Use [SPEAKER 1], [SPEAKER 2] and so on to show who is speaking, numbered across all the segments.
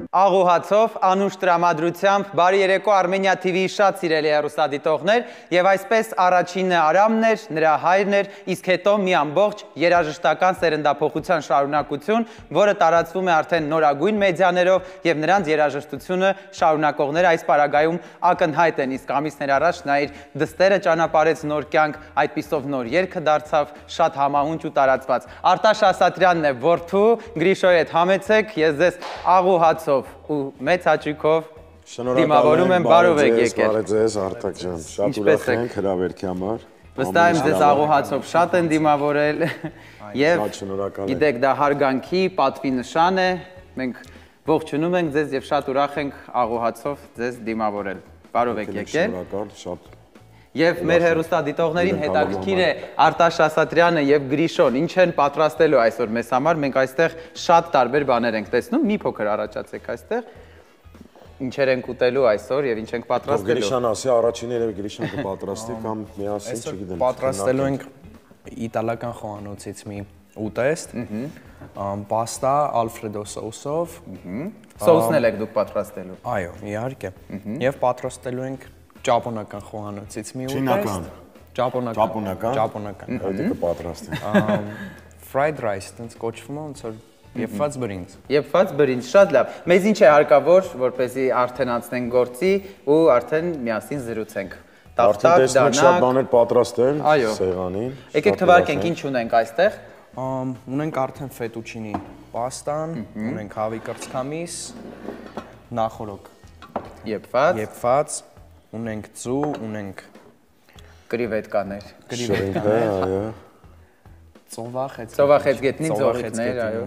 [SPEAKER 1] Աղուհացով, անուշ տրամադրությամբ, բարի երեկո Armenia TV-ի շատ սիրելի հեռուստադիտողներ եւ այսպես առաջինը Արամն էր, նրա հայրն էր, իսկ հետո մի ամբողջ երաժշտական սերնդափոխության շարունակություն, որը տարածվում է արդեն նորագույն մեդիաներով եւ նրանց երաժշտությունը շարունակողները այս պարագայում ակնհայտ են, իսկ ամիսներ առաջ նա իր դստերը ճանապարհեց նոր կյանք, այդպիսով նոր երգը դարձավ շատ համահունչ ու տարածված։ Արտաշ Ասատրյանն է որդու, Գրիշոյի հետ համեցեք, ես ձեզ աղուհացով ու մեծ հաճույքով դիմավորում եմ, բարով եք եկել։
[SPEAKER 2] Բարև ձեզ, Արտակ ջան, շատ ուրախ ենք հրավերքի համար։
[SPEAKER 1] Վստահ եմ ձեզ աղուհացով շատ են դիմավորել եւ գիտեք դա հարգանքի, պատվի նշան է։ Մենք ողջունում ենք ձեզ եւ շատ ուրախ ենք աղուհացով ձեզ դիմավորել։ Բարով եք եկել։
[SPEAKER 2] Շնորհակալ, շատ
[SPEAKER 1] Եվ մեր հեռուստադիտողներին հետաքրքիր է Արտաշ Ասատրյանը եւ Գրիշոն ինչ են պատրաստելու այսօր մեզ համար, մենք այստեղ շատ տարբեր բաներ ենք տեսնում, մի փոքր առաջացեք այստեղ, ինչեր ենք ուտելու այսօր եւ ինչ ենք պատրաստելու։
[SPEAKER 2] Գրիշան ասի, առաջին երևի Գրիշան կպատրաստի կամ միասին, չգիտեմ։
[SPEAKER 3] Պատրաստելու ենք իտալական խոհանոցից մի ուտեստ, պաստա ալֆրեդո սոուսով։
[SPEAKER 1] Սոուսն էլ եք դուք պատրաստելու։
[SPEAKER 3] Այո, իհարկե։ Եվ պատրաստելու ենք ճապոնական խոհանոցից մի ուտեստ։ Ճապոնական։
[SPEAKER 2] Դա կպատրաստի։
[SPEAKER 3] Fried rice, տենց կոչվում է ոնց որ եփված բրինձ։
[SPEAKER 1] Եփված բրինձ, շատ լավ։ Մեզ ինչ է հարկավոր, որպեսզի արդեն անցնենք գործի ու արդեն միասին զրուցենք։
[SPEAKER 2] Արդեն տեսնենք շատ բաներ պատրաստել սեղանին։
[SPEAKER 1] Եկեք թվարկենք ինչ ունենք այստեղ։
[SPEAKER 3] Ունենք արդեն ֆետուչինի պաստան, ունենք հավի կրծքամիս, նախորոք եփված, ունենք ձու, ունենք
[SPEAKER 1] կրիվետկաներ,
[SPEAKER 2] այո։
[SPEAKER 1] ծովախեցգետնի ձողիկներ, այո։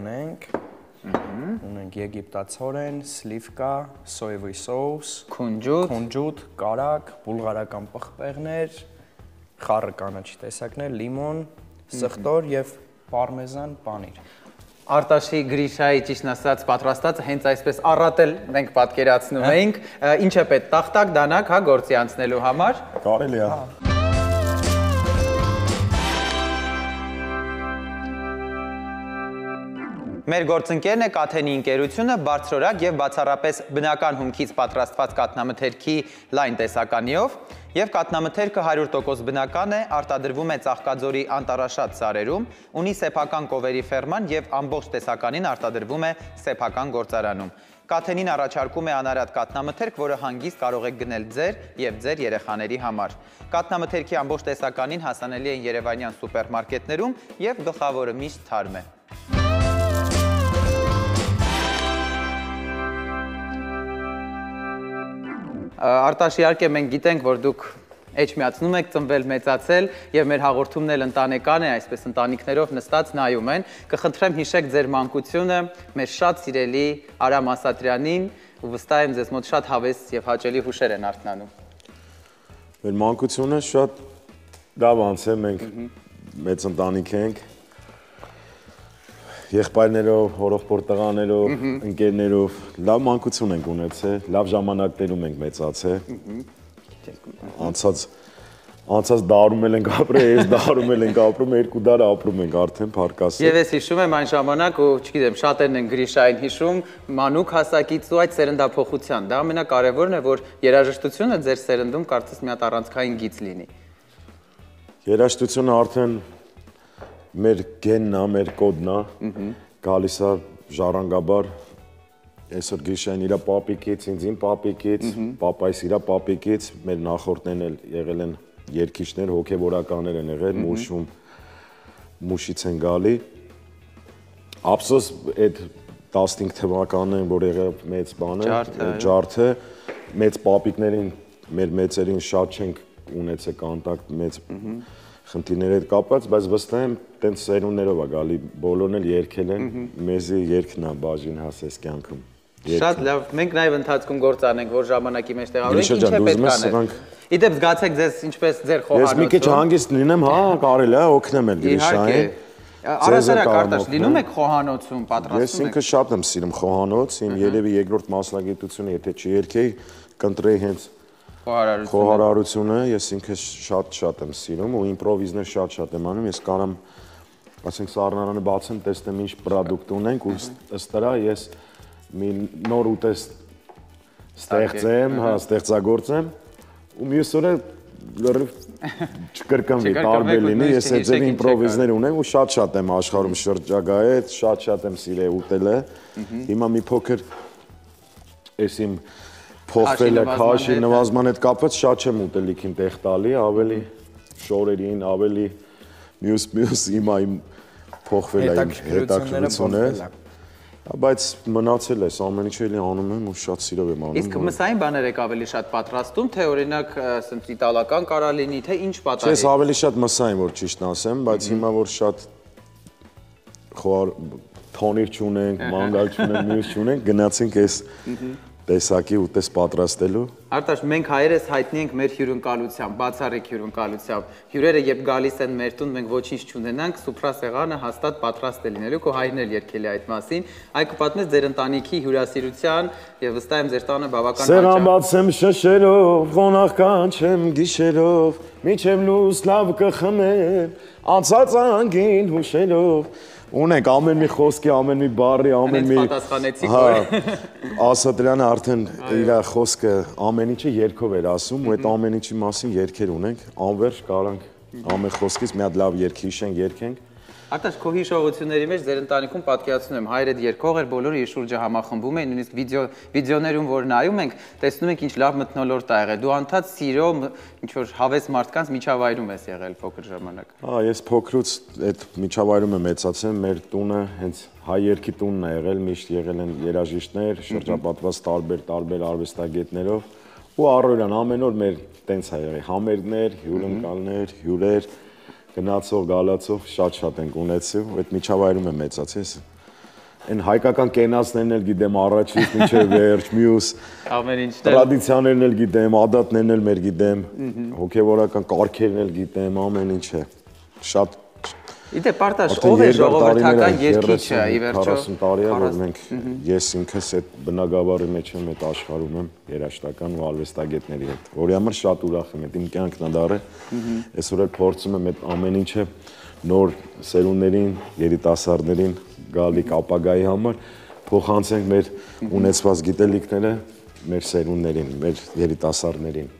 [SPEAKER 3] Ունենք եգիպտացորեն, սլիվկա, սոևի սոուս,
[SPEAKER 1] քունջուտ,
[SPEAKER 3] կարակ, բուլղարական պղպեղներ, խառը կանաչի տեսակներ, լիմոն, սխտոր եւ պարմեզան պանիր։
[SPEAKER 1] Արտաշի Գրիշայի ճիշտ ասած պատրաստածը հենց այսպես առատել մենք պատկերացնում էինք, ինչ է պետք տախտակ դանակ, հա, գործի անցնելու համար։
[SPEAKER 2] Կարելի է։
[SPEAKER 1] Մեր գործընկերն է Կաթենի ընկերությունը, բարձրորակ եւ բացառապես բնական հումքից պատրաստված կաթնամթերքի լայն տեսականիով, եւ կաթնամթերքը 100% բնական է, արտադրվում է Ծաղկաձորի անտառաշատ սարերում, ունի սեփական կովերի ֆերման եւ ամբողջ տեսականին արտադրվում է սեփական գործարանում։ Կաթենին առաջարկում է անարատ կաթնամթերք, որը հանգիստ կարող եք գնել ձեր եւ ձեր երեխաների համար։ Կաթնամթերքի ամբողջ տեսականին հասանելի են երևանյան սուպերմարկետներում եւ գլխավորը միշտ թարմ է։ Արտաշ, իհարկե մենք գիտենք, որ դուք էջմիածնում եք, ծնվել, մեծացել եւ մեր հաղորդումն էլ ընտանեկան է, այսպես ընտանիքներով նստած նայում են։ Կխնդրեմ հիշեք ձեր մանկությունը մեր շատ սիրելի Արամ Ասատրյանին ու վստահ եմ ձեզ մոտ շատ հավես եւ հաճելի հուշեր են արթնանում։
[SPEAKER 2] Մեր մանկությունը շատ լավ անց է, մենք մեծ ընտանիք ենք։ Եղբայրներով, հորեղբոր տղաներով, ընկերներով լավ մանկություն ենք ունեցել, լավ ժամանակներում ենք մեծացել։ Անցած դարում էլ ենք ապրել, այս դարում էլ ենք ապրում, երկու դար ապրում ենք արդեն փառք Աստծո։
[SPEAKER 1] Եվ ես հիշում եմ այն ժամանակ ու չգիտեմ, շատերն են Գրիշային հիշում, մանուկ հասակից ու այդ սերնդափոխության։ Դա ամենակարևորն է, որ երաժշտությունը ձեր սերնդում կարծես մի հատ առանցքային գիծ լինի։
[SPEAKER 2] Երաժշտությունը արդեն մեր գենն է, մեր կոդն է, գալիս է ժառանգաբար, այսօր Գրիշային իրա պապիկից, ինձ իմ պապիկից, պապայիս իրա պապիկից, մեր նախորդներն էլ եղել են երգիչներ, հոգևորականներ են եղել, մուշից են գալի։ Ափսոս այդ 15 թվականներին, որ եղավ մեծ բանը, ջարդը, մեծ պապիկներին, մեր մեծերին շատ չենք ունեցել կոնտակտ, մեծ խնդիրներ հետ կապված, բայց վստահ եմ, տենց սերունդներով է գալի, բոլորն էլ երգել են, մեզի երգն է բաժին հասես կյանքում։
[SPEAKER 1] Շատ լավ, մենք նաև ընթացքում գործ անենք, որ ժամանակի մեջ տեղավորենք, ինչ է պետք անել։ Իդեպ զգացեք ձեզ ինչպես ձեր խոհանոցը։
[SPEAKER 2] Ես մի քիչ հանգիստ լինեմ, հա, կարելի է օգնեմ էլ Գրիշային։
[SPEAKER 1] Առասարակ Արտաշ, լինում եք խոհանոցում, պատրաստում եք։
[SPEAKER 2] Ես ինքը շատ եմ սիրում խոհանոց, իմ երևի երկրորդ մասնագիտությունը, եթե չերգեի, կընտրեի հենց խոհարարությունը, ես ինքը շատ եմ սիրում ու իմպրովիզներ շատ եմ անում, ես կարամ, ասենք սառնարանը բացեմ, տեսնեմ ինչ պրոդուկտ ունենք ու ըստ դրա ես մի նոր ուտեստ ստեղծեմ, հա, ստեղծագործեմ ու մյուս օրը լրիվ չկրկնվի, տարբեր լինի, ես այդ ձև իմպրովիզներ ունեմ ու շատ եմ աշխարհում շրջագայել, շատ եմ սիրել ուտելը։ Հիմա մի փոքր ես իմ փոխվելը քաշի նվազման հետ կապված շատ չեմ ուտելիքին տեղ տալի, ավելի շորերին, ավելի մյուս հիմա իմ փոխվել է իմ հետաքրքրությունը, բայց մնացել է, ամեն ինչ էլի անում եմ ու շատ սիրով եմ անում։
[SPEAKER 1] Իսկ մսային բաներ եք ավելի շատ պատրաստում, թե օրինակ ասենք իտալական կարա լինի, թե ինչ պատահի։
[SPEAKER 2] Ես ավելի շատ մսային որ ճիշտն ասեմ, բայց հիմա որ շատ թոնիր չունենք, մանգալ չունենք, մյուս չունենք, գնացինք այս տեսակի ուտես պատրաստելու։
[SPEAKER 1] Արտաշ, մենք հայերս հայտնի ենք մեր հյուրընկալությամբ, բացառիկ հյուրընկալությամբ։ Հյուրերը երբ գալիս են մեր տուն, մենք ոչինչ չունենանք, սուփրասեղանը հաստատ պատրաստ է լինելու, քո հայրն էլ երգել է այդ մասին։ Այ կպատմես ձեր ընտանիքի հյուրասիրության եւ վստահ եմ ձեր տանը բավական հաճախ։
[SPEAKER 2] Սերան բացեմ շշերով, ղոնախ կանչեմ գիշերով, միջև լույս լավ կխմեմ, անցած անգին հուշերով։ Ունենք ամեն մի խոսքի, ամեն մի բառի, ամեն մի Ասատրյանը արդեն իր խոսքը ամեն ինչը երգով էր ասում ու այդ ամեն ինչի մասին երգեր ունենք, անվերջ կարանք ամեն խոսքից մի հատ լավ երգ հիշենք, երգենք։
[SPEAKER 1] Արտաշ, քո հիշողությունների մեջ ձեր ընտանիքում պատկերացնում եմ, հայրդ երգող էր, բոլորը իր շուրջը համախմբում էին, նույնիսկ վիդեոներում որ նայում ենք, տեսնում ենք ինչ լավ մթնոլորտ ա եղել։ Դու անդադ սիրո ինչ որ հավես մարդկանց միջավայրում ես եղել փոքր ժամանակ։
[SPEAKER 2] Հա, ես փոքրուց այդ միջավայրում եմ մեծացել, մեր տունը հենց հայ երգի տունն է եղել, միշտ եղել են երաժիշտներ, շրջապատված տարբեր արվեստագետներով ու առօրյան ամեն օր մեր տենց է եղել, համերգներ, հյուրընկալներ, հյուրեր գնացող, գալացող շատ ենք ունեցել ու այդ միջավայրում եմ մեծացել։ Այն հայկական կենացներն էլ գիտեմ առաջից մինչև վերջ, մյուս
[SPEAKER 1] ամեն ինչն
[SPEAKER 2] տրադիցիաներն էլ գիտեմ, ադատներն էլ մեր գիտեմ, հոգևորական կարգերն էլ գիտեմ, ամեն ինչը։ Շատ
[SPEAKER 1] Իդե Պարտաշ, ով է ժողովրդական երգիչը ի վերջո
[SPEAKER 2] 40 տարի է որ մենք ես ինքս այդ բնագավառի մեջ եմ, այդ աշխարհում եմ երաժշտական ու արվեստագետների հետ, որի համար շատ ուրախ եմ, այդ իմ կյանքն է դառել։ Այսօր էլ փորձում եմ այդ ամեն ինչը նոր սերունդներին, երիտասարդներին գալիք ապագայի համար փոխանցենք մեր ունեցված գիտելիքները մեր սերունդներին, մեր երիտասարդներին։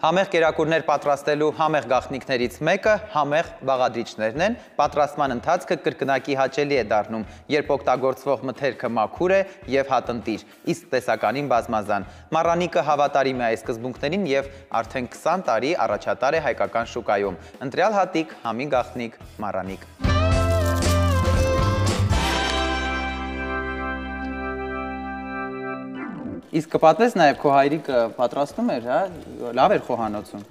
[SPEAKER 1] Համեղ կերակուրներ պատրաստելու համեղ գաղտնիքներից մեկը համեղ բաղադրիչներն են, պատրաստման ընթացքը կրկնակի հաճելի է դառնում, երբ օգտագործվող մթերքը մաքուր է և հատնտիր, իսկ տեսականին բազմազան։ Մառանիկը հավատարիմ է այս սկզբունքներին և արդեն 20 տարի առաջատար է հայկական շուկայում։ Ընտրյալ հատիկ, համի գաղտնիք, մառանիկ։ Իսկ կպատվես նաև քո հայրիկը պատրաստում էր, հա, լավ էր խոհանոցում։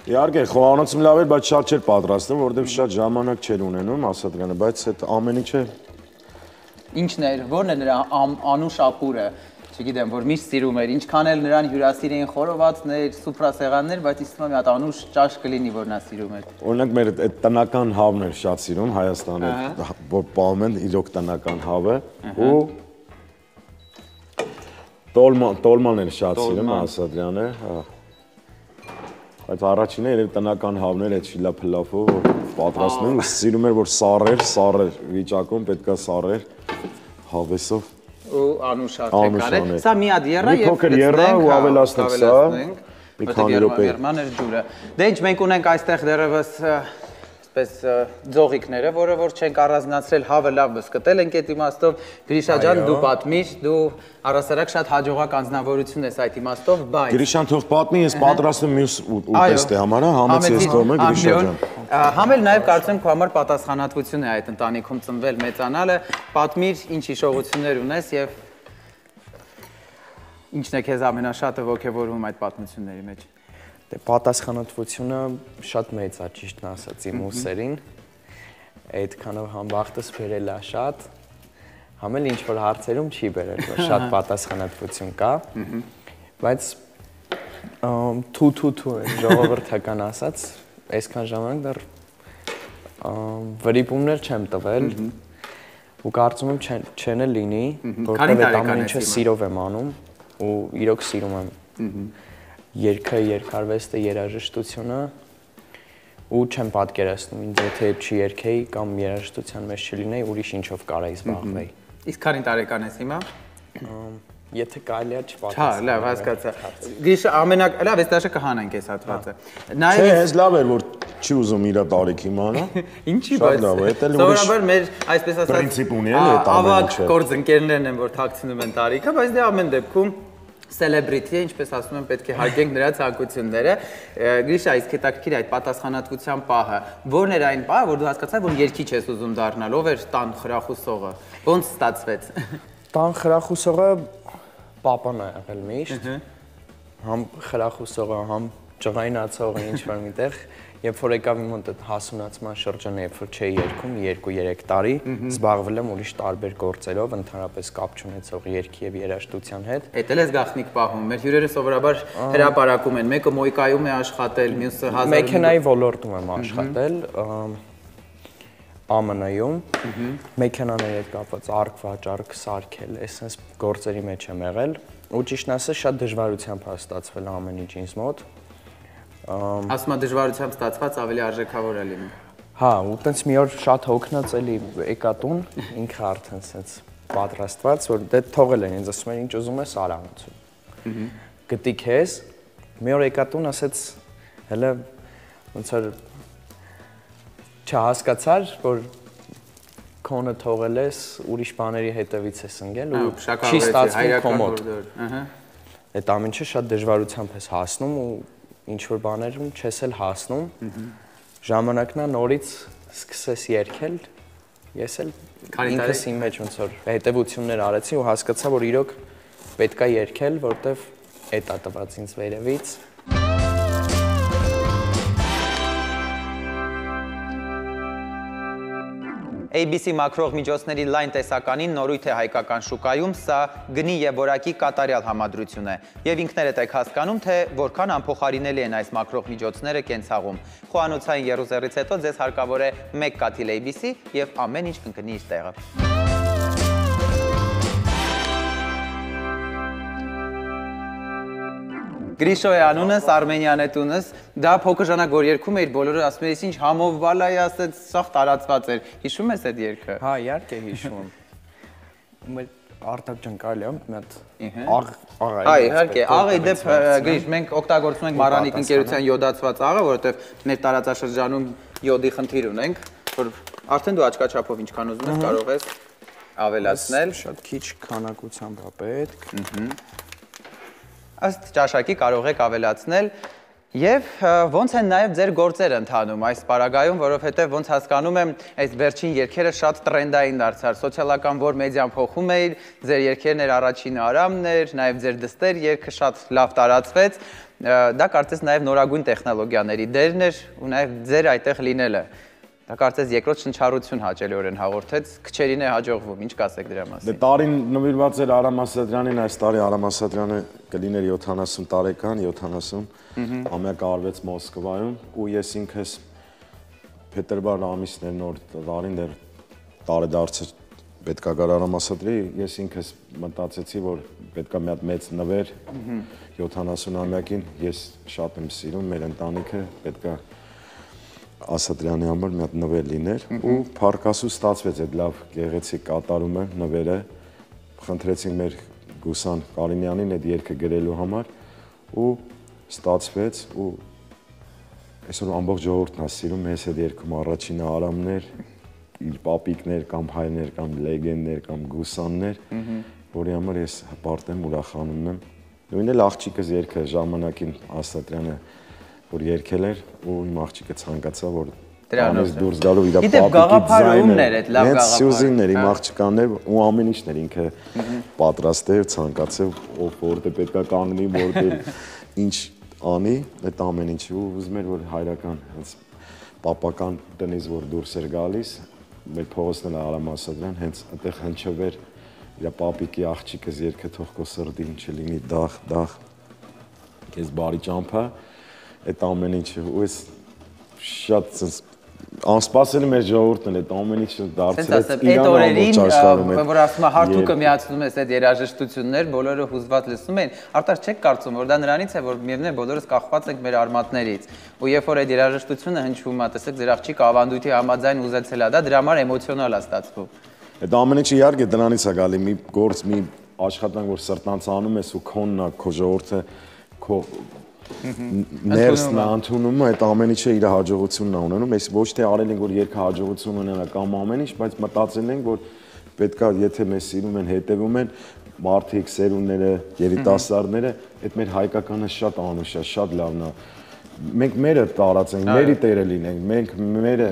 [SPEAKER 2] Իհարկե, խոհանոցում լավ էր, բայց շատ չէր պատրաստում, որովհետև շատ ժամանակ չէր ունենում, Ասատրյանը, բայց այդ ամեն ինչը
[SPEAKER 1] Ինչն էր, ո՞րն է նրա անուշ ապուրը, չգիտեմ, որ միշտ սիրում էր, ինչքան էլ նրան հյուրասիր էին խորովածներ, սուփրասեղաններ, բայց իստում եմ մի հատ անուշ ճաշ կլինի, որ նա սիրում էր։
[SPEAKER 2] Օրինակ մեր այդ տնական հավն էր շատ սիրում, Հայաստանը, որ պահում են իրոք տնական հավը ու Տոլման էր շատ սիրում Ասատրյանը, բայց առաջինը էր տնական հավներ այդ շիլափլափով պատրաստում ու սիրում էր, որ սառեր վիճակում պետքա սառեր հավեսով
[SPEAKER 1] ու անուշ արդեն կարել, սա մի հատ եռա և
[SPEAKER 2] ավելացնենք սա, մի քանի րոպե։
[SPEAKER 1] Դե ինչ, մենք ունենք այստեղ դեռևս ձողիկները, որը որ չենք առանձնացրել, հավը լավ բսկտել ենք այդ իմաստով, Գրիշա ջան, դու պատմիր, դու առասարակ շատ հաջողակ անձնավորություն ես այդ իմաստով, բայց
[SPEAKER 2] Գրիշան թող պատմի, ես պատրաստում մյուս ուտեստի համար, համեց ես թողում եմ Գրիշա ջան։
[SPEAKER 1] Համել նաև կարծում քո համար պատասխանատվություն է այդ ընտանիքում ծնվել մեծանալը, պատմիր ինչ հիշողություններ ունես եւ ինչն է քեզ ամենաշատը ոգևորում այդ պատմությունների մեջ։
[SPEAKER 3] Դե պատասխանատվությունը շատ մեծ է, ճիշտն ասած իմ ուսերին, այդքանով համ վախտս բերել է շատ, համ էլ ինչ-որ հարցերում չի բերել, որ շատ պատասխանատվություն կա, բայց թու ժողովրդական ասած, այսքան ժամանակ դեռ վրիպումներ չեմ տվել ու կարծում եմ չեն էլ լինի, որտեղ այդ ամեն ինչը սիրով եմ անում ու իրոք սիրում եմ երգը, երգարվեստը, երաժշտությունը ու չեմ պատկերացնում ինձ եթե չի երգեի կամ երաժշտության մեջ չլինեի, ուրիշ ինչով կարայի զբաղվեի։
[SPEAKER 1] Իսկ քանի տարեկան ես հիմա։
[SPEAKER 3] Եթե կարելի է
[SPEAKER 1] Հա, լավ, հասկացա։ Գրիշա, լավ, այս դաշը կհանենք այս հատվածը։
[SPEAKER 2] Չէ, հենց լավ էր, որ չի ուզում իր տարիքի իմանա։
[SPEAKER 1] Ինչի, բայց սովորաբար մեր, այսպես ասած,
[SPEAKER 2] պրինցիպ ունի էլի այդ ամենը։
[SPEAKER 1] Ավագ գործընկերներն են, որ թաքցնում են տարիքը, բայց դե ամեն դեպքում celebrity է, ինչպես ասում են, պետք է հարգենք նրա ցանկությունները։ Գրիշա, իսկ հետաքրքիր այդ պատասխանատվության պահը։ Որն էր այն պահը, որ դու հասկացար, որ երգիչ ես ուզում դառնալ, ով էր տան խրախուսողը։ Ոնց ստացվեց։
[SPEAKER 3] Տան խրախուսողը պապան է եղել միշտ։ Համ խրախուսողը, համ ջղայնացողը ինչ-որ միտեղ, երբ որ եկավ իմ մոտ հասունացման շրջանը, երբ որ չէի երգում 2-3 տարի, զբաղվել եմ ուրիշ տարբեր գործերով, ընդհանրապես կապ չունեցող երգի եւ երաժշտության հետ։
[SPEAKER 1] Էդ էլ էս գաղտնիք պահում։ Մեր հյուրերը սովորաբար հրապարակում են, մեկը մոյկայում է աշխատել, մյուսը 1000
[SPEAKER 3] Մեքենայի ոլորտում եմ աշխատել, ԱՄՆ-ում, մեքենաների հետ կապված արկ-վաճառք, սարքել, այսպես գործերի մեջ եմ եղել, ու ճիշտն ասած շատ դժվարությամբ է ստացվել ամեն ինչ ինձ մոտ։
[SPEAKER 1] Ասում եմ դժվարությամբ ստացված ավելի արժեքավոր է լինում։
[SPEAKER 3] Հա, ու տենց մի օր շատ հոգնած էլի եկա տուն, ինքը արդեն սենց պատրաստված, որ դե թողել են ինձ ասում են ինչ ուզում ես արա ոնց։ Գտի քեզ, մի օր եկա տուն, ասեց հələ ոնց որ չհասկացար, որ քոնը թողել ես, ուրիշ բաների հետևից ես ընկել ու չի ստացվում քո մոտ։ Այդ ամեն ինչը շատ դժվարությամբ ես հասնում ու ինչ որ բաներում չես էլ հասնում։ Ժամանակն է նորից սկսես երգել։ Ես էլ ինքս իմ մեջ ոնց որ հետևություններ արեցի ու հասկացա, որ իրոք պետքա երգել, որտեվ էդ է տված ինձ վերևից։
[SPEAKER 1] ABC մակրող միջոցների լայն տեսականին նորույթ է հայկական շուկայում, սա գնի եւ որակի կատարյալ համադրություն է։ Եվ ինքներդ եք հասկանում, թե որքան անփոխարինելի են այս մակրող միջոցները կենցաղում։ Խոհանոցային եռուզեռից հետո ձեզ հարկավոր է 1 կաթիլ ABC եւ ամեն ինչ կընկնի իր տեղը։ Գրիշո է անունս, Արմենյան է տունս, դա փոքր ժամանակ որ երգում էիր, բոլորը ասում էին, ինչ համով բալայ ասեց, սաղ տարածված էր։ Հիշում ես այդ երգը։
[SPEAKER 3] Հա, իհարկե հիշում եմ։ Մեր Արտակ ջան կարելի է մի հատ աղ
[SPEAKER 1] Հա, իհարկե, աղի դեպ Գրիշ, մենք օգտագործում ենք Մարանիկ ընկերության յոդացված աղը, որովհետև մեր տարածաշրջանում յոդի խնդիր ունենք, որ արդեն դու աչքաչափով ինչքան ուզում ես կարող ես ավելացնել։
[SPEAKER 3] Շատ քիչ քանակությամբ է պետք։
[SPEAKER 1] Ըստ ճաշակի կարող եք ավելացնել եւ ոնց են նաեւ ձեր գործերը ընթանում այս պարագայում, որովհետեւ ոնց հասկանում եմ, այս վերջին երգերը շատ տրենդային դարձար, սոցիալական որ մեդիան փոխում էր, ձեր երգերն էր առաջինը Արամն էր, նաեւ ձեր դստեր երգը շատ լավ տարածվեց, դա կարծես նաեւ նորագույն տեխնոլոգիաների դերն էր ու նաեւ ձեր այդտեղ լինելը։ Դա կարծես երկրորդ շնչառություն հաճելիորեն հաղորդեց, քչերին է հաջողվում, ինչ կասեք դրա մասին։
[SPEAKER 2] Դե տարին նվիրված էր Արամ Ասատրյանին, այս տարի Արամ Ասատրյանը կլիներ 70 տարեկան, 70, ամյակը արվեց Մոսկվայում ու ես ինքս փետրվար ամիսն էր նոր տարին դեռ տարեդարձը պետքա գար Արամ Ասատրի, ես ինքս մտածեցի, որ պետքա մի հատ մեծ նվեր 70-ամյակին, ես շատ եմ սիրում մեր ընտանիքը, պետքա Ասատրյանի համար մի հատ նվեր լիներ ու փառքասու ստացվեց այդ լավ գեղեցիկ կատարումը նվերը խնդրեցին մեր Գուսան Կարինյանին այդ երգը գրելու համար ու ստացվեց ու այսօր ամբողջ ժողովուրդն է սիրում մեզ այդ երգում առաջինը Արամներ իր պապիկներ կամ հայրներ կամ լեգենդներ կամ Գուսաններ որի համար ես հպարտ եմ ուրախանում եմ նույնն էլ աղջիկս երգը ժամանակին Ասատրյանը որ երգել էր ու իմ աղջիկը ցանկացավ որ դրանից դուրս գալու իր պապիկի ձայնը
[SPEAKER 1] այդ լավ գաղափար
[SPEAKER 2] Սյուզիններ իմ աղջկաններ ու ամեն ինչն էր ինքը պատրաստ էր ցանկացավ ով որտե պետքա կանգնի որտե ինչ անի այդ ամեն ինչը ու ուզում էր որ հայրական հենց պապական տնից որ դուրս էր գալիս մեր փողոցն էլ Արամ Ասատրյան հենց այդտեղ հնչվեր իր պապիկի աղջիկս երգը թող քո սրտին չլինի դախ քեզ բարի ճամփա այդ ամեն ինչը ու ես շատ Անսպասելի մեր ժողովուրդն է, այդ ամեն ինչը դարձրեց
[SPEAKER 1] Իրան ամբողջ աշխարհում է։ Որ ասում է հարթուկը միացնում ես այդ երաժշտություններ, բոլորը հուզված լսում են։ Արտաշ չեք կարծում, որ դա նրանից է, որ միևնույն է բոլորս կախված ենք մեր արմատներից։ Ու երբ որ այդ երաժշտությունը հնչում է, տեսեք ձեր աղջիկը ավանդույթի համաձայն ուզեցել է դա, դրա համար էմոցիոնալ է ստացվում։
[SPEAKER 2] Այդ ամեն ինչը իհարկե դրանից է գալի, մի գործ, մի աշխատանք, որ սրտանց անում ես ու քոնն է, քո ժողովուրդը, քո ներսն է ընդունում, այդ ամեն ինչը իր հաջողությունն է ունենում, ես ոչ թե արել ենք, որ երկը հաջողություն ունենա կամ ամեն ինչ, բայց մտածել ենք, որ պետքա, եթե մեզ սիրում են, հետևում են, մարդիկ, սերունդները, երիտասարդները, այդ մեր հայկականը շատ անուշ է, շատ լավն է։ Մենք մերը տարածենք, մերի տերը լինենք, մենք մերը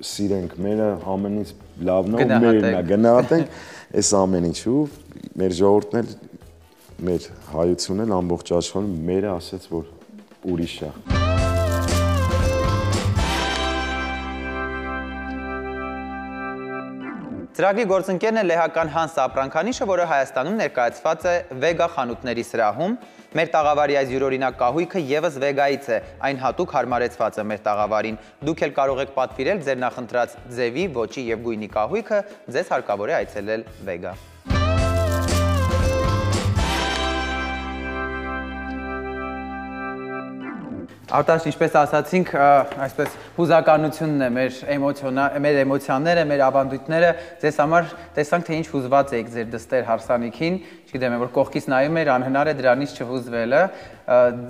[SPEAKER 2] սիրենք, մերը ամենից լավն է ու մերն է, գնահատենք այս ամեն ինչու, մեր ժողովուրդն էլ մեր հայությունն էլ ամբողջ աշխարհում մերը ասեց, որ ուրիշ է։
[SPEAKER 1] Ծրագրի գործընկերն է լեհական Հանս Ապրանքանիշը, որը Հայաստանում ներկայացված է Վեգա խանութների սրահում։ Մեր տաղավարի այս յուրօրինակ կահույքը եւս Վեգայից է, այն հատուկ հարմարեցված է մեր տաղավարին։ Դուք էլ կարող եք պատվիրել ձեր նախընտրած ձևի, ոճի եւ գույնի կահույքը, ձեզ հարկավոր է այցելել Վեգա։ Արտաշ, ինչպես ասացինք, այսպես հուզականությունն է մեր էմոցիաները, մեր ավանդույթները, ձեզ համար տեսանք, թե ինչ հուզված եք ձեր դստեր հարսանիքին, չգիտեմ, որ կողքից նայում էր, անհնար է դրանից չհուզվելը,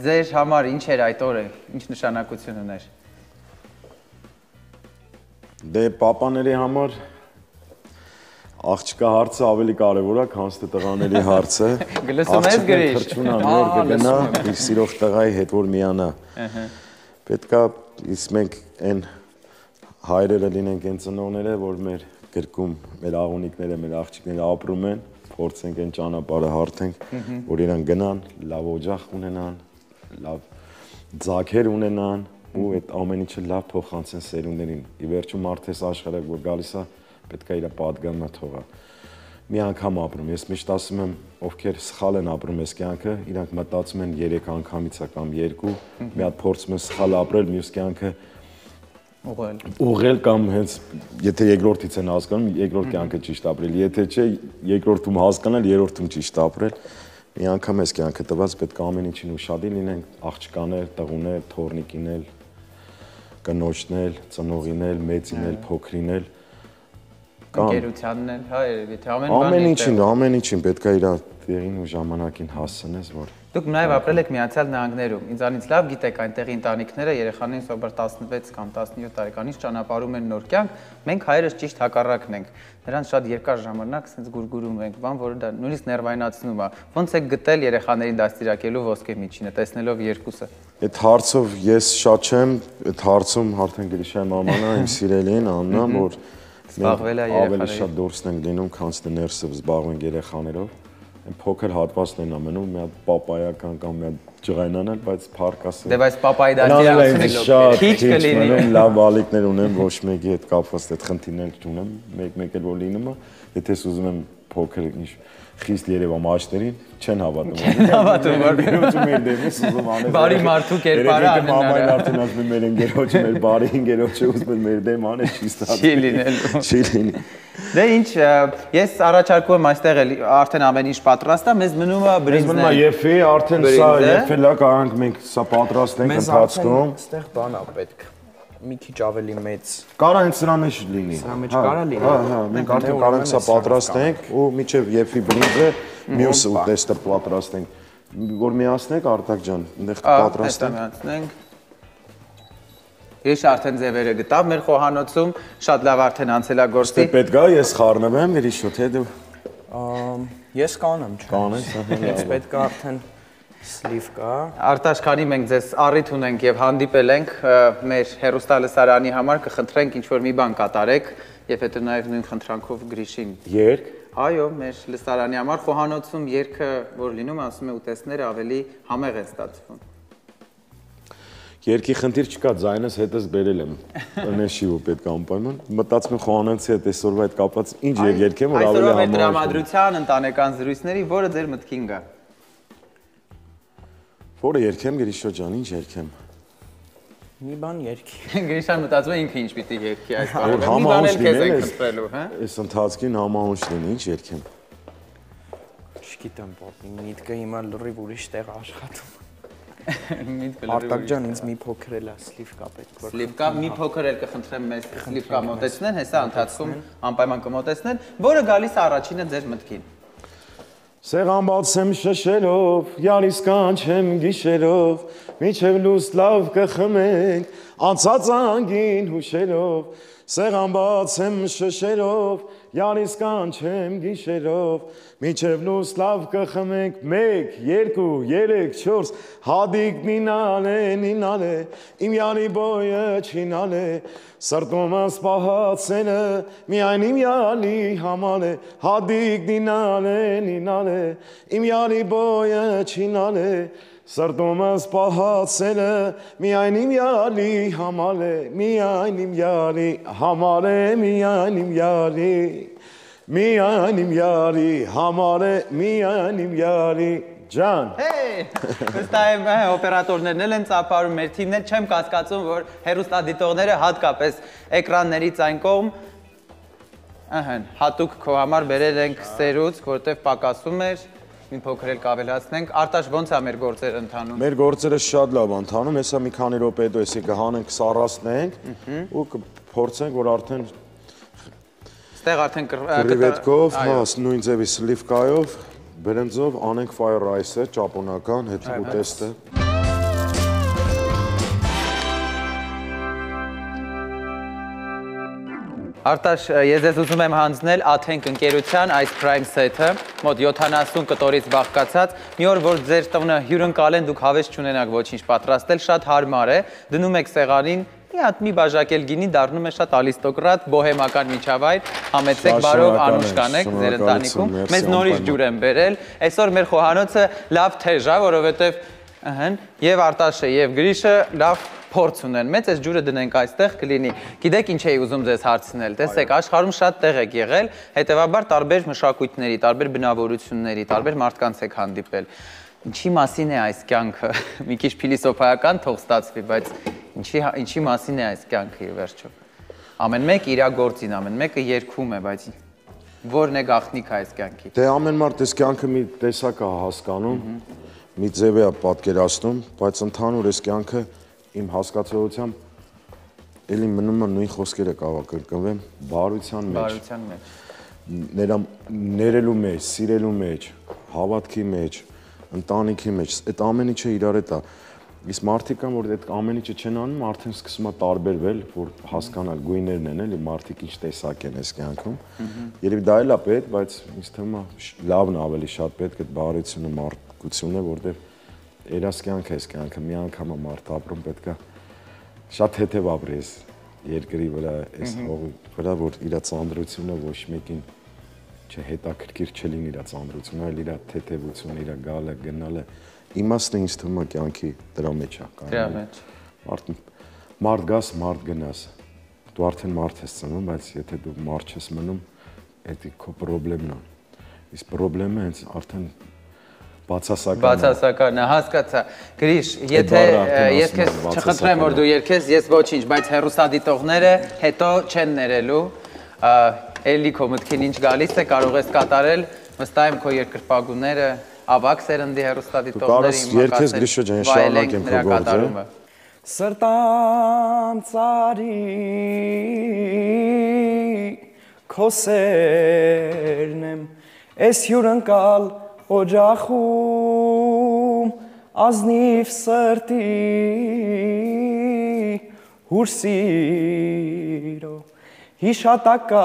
[SPEAKER 1] ձեր համար ինչ էր այդ օրը, ինչ նշանակություն ուներ։
[SPEAKER 2] Դե պապաների համար աղջկա հարցը ավելի կարևոր է, քան թե տղաների հարցը։
[SPEAKER 1] Գլսում ես գրիշ։
[SPEAKER 2] Թրջունա նոր կգնա, իր սիրող տղայի հետ որ միանա։ Պետքա իսկ մենք այն հայրերը լինենք, այն ծնողները, որ մեր գրկում, մեր աղունիկները, մեր աղջիկները ապրում են, փորձենք այն ճանապարհը հարթենք, որ իրան գնան, լավ օջախ ունենան, լավ ձագեր ունենան ու այդ ամեն ինչը լավ փոխանցեն սերունդերին։ Ի վերջո մարդես աշխարհակ որ գալիս է, պետք է իր պատգամը թողա։ Մի անգամ ապրում, ես միշտ ասում եմ, ովքեր սխալ են ապրում այս կյանքը, իրանք մտածում են 3 անգամից է կամ 2, մի հատ փորձում են սխալ ապրել, մյուս կյանքը ուղղել կամ հենց եթե երկրորդից են հասկանում, երկրորդ կյանքը ճիշտ ապրել, եթե չէ, երկրորդում հասկանալ, երրորդում ճիշտ ապրել։ Մի անգամ այս կյանքը տված, պետք է ամեն ինչին ուշադիր լինենք, աղջկաներ, տղուներ, թոռնիկինել, կնոջնել, ծնողինել, մեծինել, փոքրինել
[SPEAKER 1] Ընկերությանն էլ, հա, երևի թե
[SPEAKER 2] ամեն ինչին պետք է իր տեղին ու ժամանակին հասցնես, որ
[SPEAKER 1] Դուք նաև ապրել եք Միացյալ Նահանգներում։ Ինձանից լավ գիտեք այնտեղի ընտանիքները երեխաներին սովոր 16 կամ 17 տարեկանից ճանապարհում են նոր կյանք, մենք հայերս ճիշտ հակառակն ենք։ Նրանց շատ երկար ժամանակ sense գուրգուրում ենք, բան, որը դա նույնիսկ ներվայնացնում է։ Ոնց եք գտել երեխաներին դաստիարակելու ոսկե միջինը, տեսնելով երկուսը։
[SPEAKER 2] Այդ հարցով ես շատ չեմ, այդ հարցում արդեն Գրիշայի մաման է, իմ սիրելին Աննա, որ ավելի շատ դուրսն ենք լինում, քան թե ներսը զբաղվենք երեխաներով։ Այն փոքր հատվածն են ամենում, մի հատ պապայական կամ մի հատ ջղայնանալ, բայց փառքասը։
[SPEAKER 1] Դե բայց պապայի դաստիարակությունը քիչ կլինի։
[SPEAKER 2] Լավ ալիքներ ունեմ, ոչ մեկի հետ կապված այդ խնդիրներ չունեմ, մեկ էլ որ լինում է, եթե ուզում եմ փոքր ինչ խիստ երևա մաշներին, չեն հավատում։
[SPEAKER 1] Չեն հավատում, որ
[SPEAKER 2] գերոջը մեր դեմից ուզում անել։
[SPEAKER 1] Բարի մարդու կերպարը
[SPEAKER 2] անեն։ Մամային արդեն ասում է մեր ընկերոջը, մեր բարի ընկերոջը ուզում է մեր դեմ անել, չի ստացվում։
[SPEAKER 1] Չի լինելու։
[SPEAKER 2] Չի լինի։
[SPEAKER 1] Դե ինչ, ես առաջարկում եմ այստեղ էլ արդեն ամեն ինչ պատրաստ է, մեզ մնում է բրինձն։
[SPEAKER 2] Մեզ մնում է եփի, արդեն սա եփել է, կարանք մենք սա պատրաստենք ընթացքում։
[SPEAKER 3] Այստեղ բան է պետք։ Մի քիչ ավելի մեծ։
[SPEAKER 2] Կարա հենց սրա մեջ լինի։
[SPEAKER 3] Սրա մեջ կարա լինի։
[SPEAKER 2] Հա, մենք արդեն կարանք սա պատրաստենք ու միջև եփի բրինձը մյուս ուտեստը պատրաստենք։ Որ միացնենք Արտակ ջան, այնտեղ պատրաստենք։
[SPEAKER 1] Ես արդեն ձևերը գտավ մեր խոհանոցում, շատ լավ արդեն անցելագործի։
[SPEAKER 2] Դե պետք է ես խառնվեմ, Գրիշո, թե դու։
[SPEAKER 3] Ես կանեմ, չէ։
[SPEAKER 2] Կանես,
[SPEAKER 3] Ես պետք է արդեն սլիվ կա։
[SPEAKER 1] Արտաշ, քանի մենք ձեզ առիթ ունենք եւ հանդիպել ենք մեր հերոստալսարանի համար, կխնդրենք ինչ-որ մի բան կատարեք եւ հետո նաեւ նույն խնդրանքով Գրիշին։
[SPEAKER 2] Երկ։
[SPEAKER 1] Այո, մեր լսարանի համար խոհանոցում երգը, որ լինում է, ասում է ուտեստները ավելի համեղ են ստացվում։
[SPEAKER 2] Երկի խնդիր չկա, ձայնս հետս բերել եմ։ Նեշի ու պետք է անպայման։ Մտածում եմ խոհանոցի հետ այսօրվա հետ կապված ինչ երգեմ, որ ավելի
[SPEAKER 1] համեղ։ Այսօրվա դրամատրության, ընտանեկան զրույցների, որը ձեր մտքին գա։
[SPEAKER 2] Որը երգեմ, Գրիշո ջան, ինչ երգեմ։
[SPEAKER 3] Մի բան երկի։
[SPEAKER 1] Գրիշան մտածում է ինքը ինչ պիտի երկի այս
[SPEAKER 2] Որ
[SPEAKER 1] բանը։ Մի բան
[SPEAKER 2] համահունչ
[SPEAKER 1] էլ քեզ
[SPEAKER 2] լինել
[SPEAKER 1] ենք
[SPEAKER 2] ես,
[SPEAKER 1] խնդրելու, հա։
[SPEAKER 2] այս ընթացքին համահունչ լինի, ինչ երկեմ։
[SPEAKER 3] Չգիտեմ, պապի, միտքը հիմա լրիվ ուրիշ տեղ աշխատում։
[SPEAKER 1] Միտքը
[SPEAKER 3] Արտակ ջան, ինձ մի փոքր էլ է սլիվկա պետք որ։
[SPEAKER 1] Սլիվկա մի փոքր էլ կխնդրեմ մեզ սլիվկա մոտեցնեն, հեսա ընթացքում անպայման կմոտեցնեն, որը գալիս է առաջինը ձեր մտքին։
[SPEAKER 2] Սեղան բացեմ շշելով, յալիս կանչեմ գիշերով, միջև լույս լավ կխմենք, անցած անգին հուշերով, սեղան բացեմ շշերով, յալիս կանչեմ գիշերով, միջև լույս լավ կխմենք, 1, 2, 3, 4, հադիկ նինալ է, իմ յալի բոյը չինալ է, սրտումս պահացելը, միայն իմ յալի համար է, հադիկ նինալ է, իմ յալի բոյը չինալ է, սրտումս պահացելը, միայն իմ յալի համար է, միայն իմ յալի համար է, միայն իմ յալի, միայն իմ յալի համար է, միայն իմ յալի ջան։
[SPEAKER 1] Վստահ եմ օպերատորներն էլ են ծափարում, մեր թիմն էլ չեմ կասկածում, որ հեռուստադիտողները հատկապես էկրաններից այն կողմ հատուկ քո համար բերել ենք սերուց, որտեղ պակասում էր, մի փոքր էլ կավելացնենք, Արտաշ ոնց է մեր գործերը ընթանում։
[SPEAKER 2] Մեր գործերը շատ լավ ընթանում, հեսա մի քանի րոպե հետո էսի կհանենք, սառացնենք ու կփորձենք, որ արդեն
[SPEAKER 1] Ստեղ արդեն
[SPEAKER 2] կրիվետկով, նույն ձևի սլիվկայով, բրենձով անենք fire rice-ը, ճապոնական, հետո ուտեստը։
[SPEAKER 1] Արտաշ, ես ես ուզում եմ հանձնել Աթենք ընկերության այս Prime Set-ը, մոտ 70 կտորից բաղկացած, մի օր, որ ձեր տունը հյուրընկալեն, դուք հավես չունենաք ոչինչ պատրաստել, շատ հարմար է, դնում եք սեղանին, մի բաժակել գինի, դառնում է շատ ալիստոկրատ, բոհեմական միջավայր, համեցեք բարով անուշ կանեք ձեր ընտանիքում, մեզ նորից ջուր են բերել, այսօր մեր խոհանոցը լավ թեժ է, որովհետև եւ Արտաշը եւ Գրիշը լավ փորձ ունեն, մեծ այս ջուրը դնենք այստեղ կլինի, գիտեք ինչ էի ուզում ձեզ հարցնել, տեսեք, աշխարհում շատ տեղ եք եղել, հետևաբար տարբեր մշակույթների, տարբեր բնավորությունների, տարբեր մարդկանց եք հանդիպել, ինչի մասին է այս կյանքը, մի քիչ փիլիսոփայական թող ստացվի, բայց ինչի մասին է այս կյանքը ի վերջո, ամեն մեկ իր գործին, ամեն մեկը երգում է, բայց որն է գաղտնիքը այս կյանքի։
[SPEAKER 2] Դե ամեն մարդ այս կյանքը մի տեսակ է հասկանում, մի ձև է պատկերացնում, բայց ընդհանուր այս կյանքը իմ հասկացողությամբ էլի մնում է նույն խոսքերը կարող կրկնվեմ, բարության մեջ, ներելու մեջ, սիրելու մեջ, հավատքի մեջ, ընտանիքի մեջ, այդ ամեն ինչը իրար հետ է, իսկ մարդիկ կան, որ այդ ամեն ինչը չեն անում, արդեն սկսում է տարբերվել, որ հասկանալ գույներն են, էլի մարդիկ ինչ տեսակ են այս կյանքում, երևի դա էլ է պետք, բայց ինձ թվում է լավն ավելի շատ պետք է բարությունը, մարդկությունը, որտեղ երաս կյանք է այս կյանքը, մի անգամ է մարդ ապրում, պետք է շատ հետև ապրի այս երկրի վրա, այս հողի վրա, որ իր ծանրությունը ոչ մեկին հետաքրքիր չլինի իր ծանրությունը, այլ իր թեթևությունը, իր գալը, գնալը, իմաստը ինձ թվում է կյանքի դրա մեջ է կանգնել։ Մարդ գաս, մարդ գնաս, դու արդեն մարդ ես ծնում, բայց եթե դու մարդ չես մնում, դա քո պրոբլեմն է, իսկ պրոբլեմը հենց արդեն
[SPEAKER 1] Բացասական է, հասկացա։ Գրիշ, եթե ես քեզ չխնդրեմ, որ դու երգես, ես ոչինչ, բայց հեռուստադիտողները հետո չեն ներելու, էլի քո մտքին ինչ գալիս է, կարող ես կատարել, վստահ եմ քո երկրպագուները, ավակ սերնդի հեռուստադիտողների վայելենք նրա կատարումը։
[SPEAKER 3] Սրտամ ծարի քո սերն եմ, ես հյուրընկալ օջախում ազնիվ սրտի հուրսիրո հիշատակա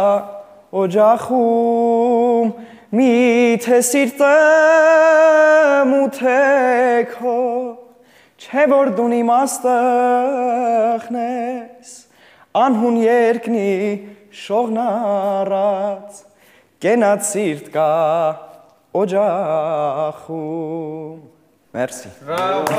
[SPEAKER 3] օջախում միթե սիրտեմ ու թեքո չէ որ դուն իմաստեղն ես անհուն երկնի շողնառած կենաց սիրտ կա օջախում Մերսի
[SPEAKER 1] Բրավո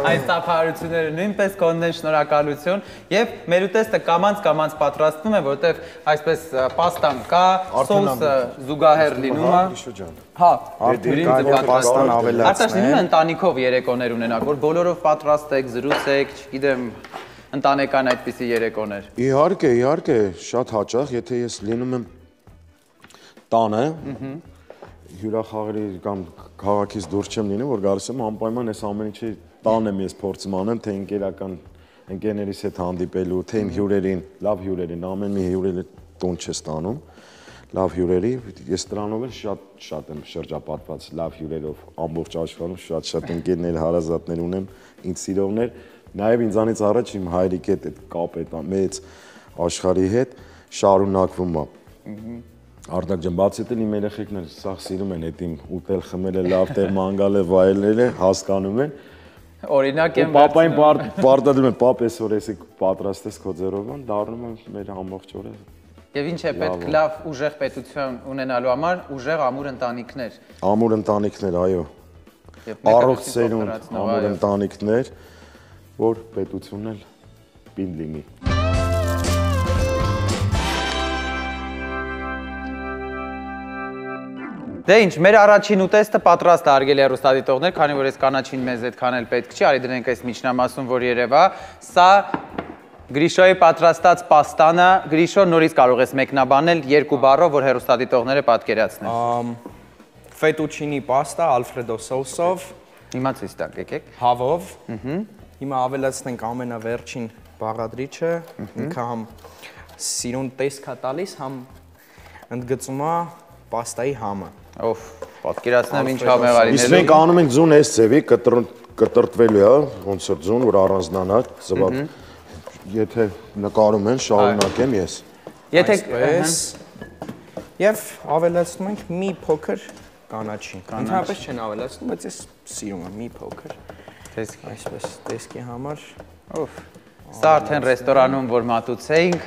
[SPEAKER 1] Այս ծափահարությունները նույնպես կոնն են, շնորհակալություն եւ մեր ուտեստը կամանց պատրաստվում է, որտեվ այսպես պաստան կա, սոուսը զուգահեռ լինում է։ Հա,
[SPEAKER 3] պաստան ավելացնել։
[SPEAKER 1] Արտաշ լինում է ընտանիքով երեկոներ ունենաք, որ բոլորով պատրաստեք, զրուցեք, չգիտեմ, ընտանեկան այդպիսի երեկոներ։
[SPEAKER 2] Իհարկե, շատ հաճախ, եթե ես լինում եմ տանը, հյուրախաղերի կամ քաղաքից դուրս չեմ լինում, որ գալիս եմ անպայման այս ամեն ինչի տան եմ ես փորձում անեմ, թե ընկերներիս հետ հանդիպելու, թե իմ հյուրերին, լավ հյուրերին, ամեն մի հյուրերը տուն չես տանում, լավ հյուրերի, ես դրանով էլ շատ եմ շրջապատված լավ հյուրերով, ամբողջ աշխարհում շատ ընկերներ, հարազատներ ունեմ, ինձ սիրողներ, նաև ինձանից առաջ իմ հայրիկի հետ այդ կապը այդ մեծ աշխարհի հետ շարունակվում է։ Արտակ ջան, բացի դրանից իմ երեխեքն էլ սաղ սիրում են այդ իմ ուտել, խմելը, լավ տեղ մանգալը, վայելելը, հասկանում են։
[SPEAKER 1] Օրինակ եմ
[SPEAKER 2] Պապային պարտադրում են, պապ այսօր էսի պատրաստես քո ձեռով, դառնում եմ մեր ամբողջ օրը։
[SPEAKER 1] Եվ ինչ է պետք լավ ուժեղ պետություն ունենալու համար, ուժեղ ամուր ընտանիքներ։
[SPEAKER 2] Ամուր ընտանիքներ, այո։ Առողջ սերունդ, ամուր ընտանիքներ, որ պետությունն էլ պին լինի։
[SPEAKER 1] Դե ինչ, մեր առաջին ուտեստը պատրաստ է հարգելի հեռուստադիտողներ, քանի որ այս կանաչին մեզ այդքան էլ պետք չի, արի դրենք այս միջնամասում, որ երևա, սա Գրիշոյի պատրաստած պաստանը, Գրիշո նորից կարող ես մեկնաբանել երկու բառով, որ հեռուստադիտողները պատկերացնեն։
[SPEAKER 3] Ֆետուչինի պաստա ալֆրեդո սոուսով,
[SPEAKER 1] Հիմա ցույց տակ, եկեք։
[SPEAKER 3] հավով։ Հիմա ավելացնենք ամենավերջին բաղադրիչը, ինքը համ սիրուն տեսք է տալիս, համ ընդգծում է պաստայի համը։
[SPEAKER 1] Ով, պատկերացնեմ ինչ համեղարիներ։
[SPEAKER 2] Իսկ մենք անում ենք ձուն այս ձևի, կտրտվելու է, ոնց որ ձուն, որ առանձնանա, զվակ։ Եթե նկարում են, շարունակեմ ես։
[SPEAKER 1] Եթե
[SPEAKER 3] Եվ ավելացնում ենք մի փոքր կանաչի։ Ընդհանրապես չեն ավելացնում, բայց ես սիրում եմ մի փոքր։ Այսպես տեսքի համար։
[SPEAKER 1] Ով, սա արդեն ռեստորանում, որ մատուցեինք,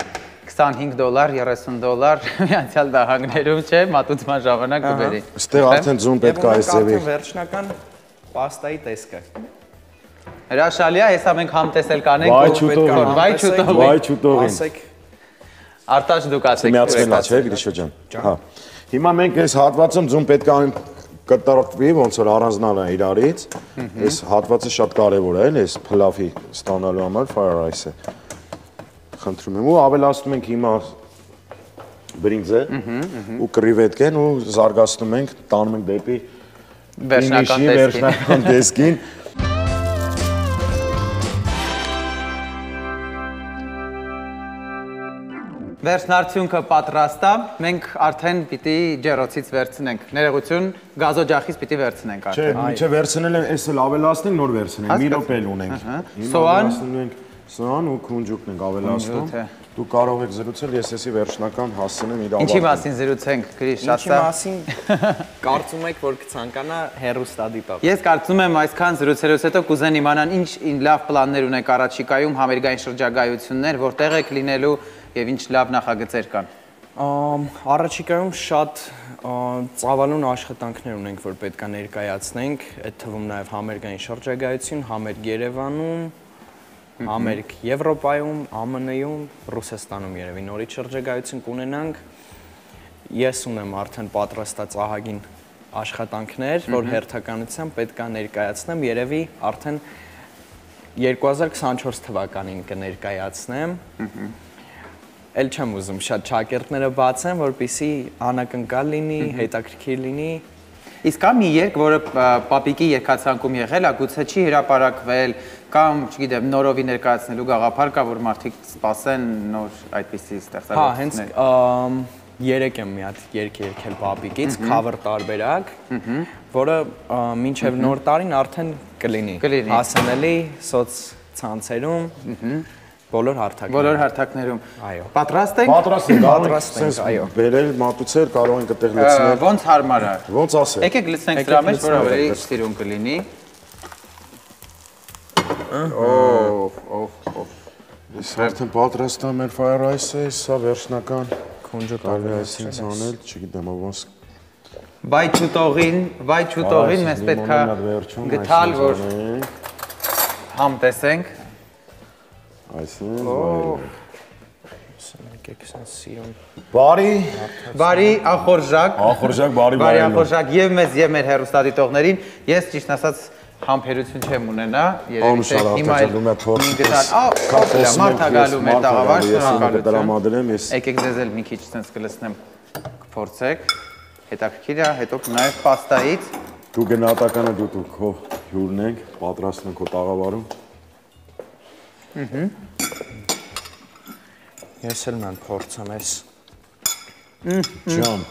[SPEAKER 1] $25, $30 Միացյալ Նահանգներում չէ, մատուցման ժամանակ կբերի։
[SPEAKER 2] Այստեղ արդեն ձուն պետք է այս ձևի։
[SPEAKER 3] Վերջնական պաստայի տեսքը։
[SPEAKER 1] Հրաշալի է, հեսա մենք համտեսել կանենք, վայ չուտողին։
[SPEAKER 3] Ասեք
[SPEAKER 1] Արտաշ դուք ասեք։
[SPEAKER 2] Միացնելա չէ, Գրիշո ջան։ Հա։ Հիմա մենք այս հատվածում ձուն պետք է անենք կտրտվի, ոնց որ առանձնանա իրարից։ Այս հատվածը շատ կարևոր է, այս փլավի ստանալու համար fire rice-ը։ Խնդրում եմ ու ավելացնում ենք հիմա բրինձը ու կրիվետկեն ու զարգացնում ենք, տանում ենք դեպի վերջնական տեսքին։
[SPEAKER 1] Վերջնարդյունքը պատրաստ է, մենք արդեն պիտի ջեռոցից վերցնենք, ներողություն, գազօջախից պիտի վերցնենք
[SPEAKER 2] արդեն։ Չէ, միջը վերցնել են, այս էլ ավելացնենք, նոր վերցնենք, մի րոպե էլ ունենք։
[SPEAKER 1] Սոան,
[SPEAKER 2] սոան ու քունջուկն ենք ավելացնում։ Դու կարող եք զրուցել, ես էսի վերջնական հասցնեմ իր
[SPEAKER 1] Ինչի մասին զրուցենք, Գրիշ,
[SPEAKER 3] Ինչի մասին կարծում եք, որ կցանկանա հեռուստադիտող։
[SPEAKER 1] Ես կարծում եմ այսքան զրուցելուց հետո կուզեն իմանան ինչ լավ պլաններ ունեք առաջիկայում, համերգային շրջագայություններ, որտեղ եք լինելու եւ ինչ լավ նախագծեր կան։
[SPEAKER 3] Առաջիկայում շատ ծավալուն աշխատանքներ ունենք, որ պետք է ներկայացնենք, այդ թվում նաեւ համերգային շրջագայություն, համերգ Երևանում, համերգ Եվրոպայում, ԱՄՆ-ում, Ռուսաստանում երևի նորից շրջագայություն կունենանք։ Ես ունեմ արդեն պատրաստած ահագին աշխատանքներ, որ հերթականությամբ պետք է ներկայացնեմ, երևի արդեն 2024 թվականին կներկայացնեմ։ Էլ չեմ ուզում շատ ճակերտները բացեմ, որպեսզի անակնկալ լինի, հետաքրքիր լինի։
[SPEAKER 1] Իսկ կա մի երգ, որը պապիկի երգացանկում եղել է, գուցե չի հրապարակվել, կամ, չգիտեմ, նորովի ներկայացնելու գաղափար կա, որ մարդիկ սպասեն նոր այդպիսի ստեղծագործություններ։
[SPEAKER 3] Հա, հենց երեք եմ մի հատ երգ երգել պապիկից, cover տարբերակ, որը մինչև նոր տարին արդեն կլինի։ Հասանելի սոցցանցերում, բոլոր հարթակներում։
[SPEAKER 1] Այո։ Պատրաստ ենք։
[SPEAKER 3] Պատրաստ ենք, այո։
[SPEAKER 2] Բերել, մատուցել, կարող ենք այդտեղ լցնել։
[SPEAKER 1] Ոնց հարմար է։
[SPEAKER 2] Ոնց ասել։
[SPEAKER 1] Եկեք լցնենք դրա մեջ, որ ավելի սիրուն կլինի։
[SPEAKER 2] Ես արդեն պատրաստ եմ մեր fire rice-ը, սա վերջնական
[SPEAKER 3] քունջուկ
[SPEAKER 2] ավելացինց անել, չգիտեմ ոնց։
[SPEAKER 1] Վայ չուտողին մեզ պետք է գտալ, որ համ տեսենք։
[SPEAKER 2] Այսինքն
[SPEAKER 3] Եկեք սենց սիրուն։
[SPEAKER 1] Բարի ախորժակ։
[SPEAKER 2] Ախորժակ, բարի
[SPEAKER 1] Բարի ախորժակ եւ մեզ եւ մեր հեռուստադիտողներին։ Ես ճիշտ ասած համբերություն չեմ ունենա, երևի թե հիմա մարդագալու մեր տաղավար, շնորհակալություն։ Եկեք ձեզ էլ մի քիչ սենց կլսնեմ, կփորձեք։ Հետաքրքիր է, հետո նաեւ պաստայից։
[SPEAKER 2] Դու գնահատականը դու քո հյուրն ենք, պատրաստում քո տաղավարում։
[SPEAKER 3] Ես էլ ման փորձեմ ես։
[SPEAKER 2] Ջան։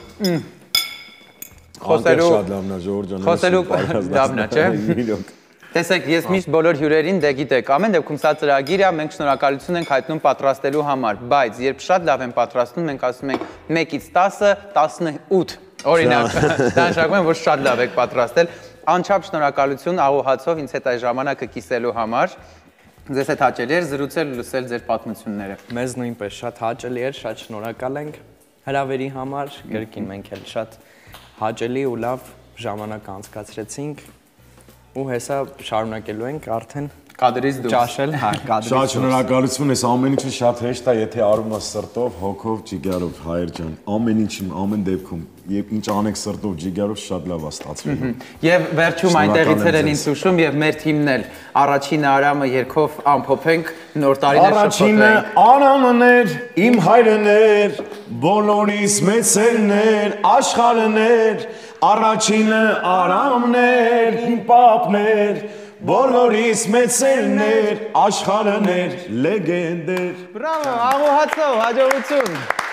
[SPEAKER 1] Խոսելու լավն է, չէ՞։ Տեսեք, ես միշտ բոլոր հյուրերին դե գիտեք, ամեն դեպքում սա ծրագիր է, մենք շնորհակալություն ենք հայտնում պատրաստելու համար, բայց երբ շատ լավ են պատրաստում, մենք ասում ենք 1-ից 10-ը 18, օրինակ, դա նշանակում է, որ շատ լավ եք պատրաստել, անչափ շնորհակալություն աղոհացով ինձ հետ այս ժամանակը կիսելու համար, ձեզ հետ հաճելի էր զրուցել ու լսել ձեր պատմությունները։
[SPEAKER 3] Մեզ նույնպես շատ հաճելի էր, շատ շնորհակալ ենք հրավերի համար, գրքին մենք էլ շատ հաճելի ու լավ ժամանակ անցկացրեցինք ու հեսա շարունակելու ենք արդեն
[SPEAKER 1] կադրից դուրս
[SPEAKER 3] ճաշել, հա, կադրից
[SPEAKER 2] Շատ շնորհակալություն, ես ամեն ինչը շատ հեշտ է, եթե արում ես սրտով, հոգով, ջիգարով, հայր ջան, ամեն ինչին, ամեն դեպքում, եւ ինչ անեք սրտով, ջիգարով շատ լավ է ստացվում։
[SPEAKER 1] Եվ վերջում այնտեղից են ինձ հուշում եւ մեր թիմն էլ առաջինը Արամը երգով ամփոփենք նոր տարիներ
[SPEAKER 2] Առաջինը Արամն էր, իմ հայրն էր, բոլորիս մեծերն էր, աշխարհն էր, առաջինը Արամն էր, իմ պապն էր, բոլորիս մեծերն էր, աշխարհն էր, լեգենդ էր։
[SPEAKER 1] Բրավո, աղոհացով, հաջողություն։